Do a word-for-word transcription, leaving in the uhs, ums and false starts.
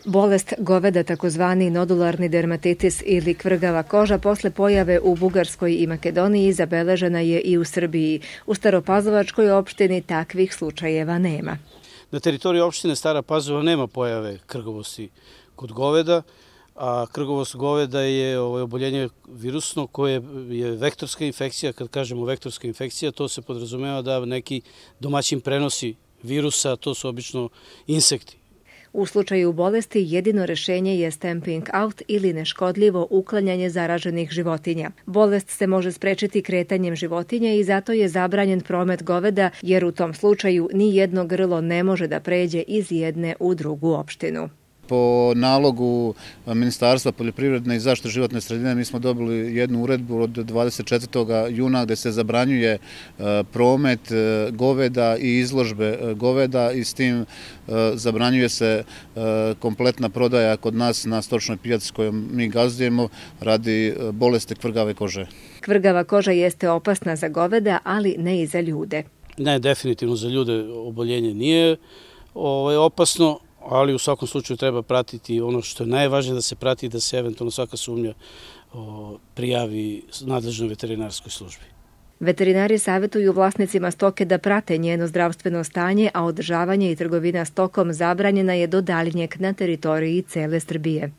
Bolest goveda, takozvani nodularni dermatitis ili kvrgava koža, posle pojave u Bugarskoj i Makedoniji zabeležena je i u Srbiji. U Staropazovačkoj opštini takvih slučajeva nema. Na teritoriji opštine Stara Pazova nema pojave krgavosti kod goveda, a krgavost goveda je oboljenje virusno koje je vektorska infekcija. Kad kažemo vektorska infekcija, to se podrazumeva da neki domaćin prenosi virusa, to su obično insekti. U slučaju bolesti jedino rešenje je stamping out ili neškodljivo uklanjanje zaraženih životinja. Bolest se može sprečiti kretanjem životinja i zato je zabranjen promet goveda, jer u tom slučaju ni jedno grlo ne može da pređe iz jedne u drugu opštinu. Po nalogu Ministarstva poljoprivredne i zaštite životne sredine mi smo dobili jednu uredbu od dvadeset četvrtog juna gde se zabranjuje promet goveda i izložbe goveda i s tim zabranjuje se kompletna prodaja kod nas na stočnoj pijaci kojom mi gazdujemo radi bolesti kvrgave kože. Kvrgava koža jeste opasna za goveda, ali ne i za ljude. Ne, definitivno za ljude oboljenje nije opasno, ali u svakom slučaju treba pratiti ono što je najvažnije da se prati, da se eventualno svaka sumnja prijavi nadležnoj veterinarskoj službi. Veterinari savjetuju vlasnicima stoke da prate njeno zdravstveno stanje, a održavanje i trgovina stokom zabranjena je do daljnjeg na teritoriji cele Srbije.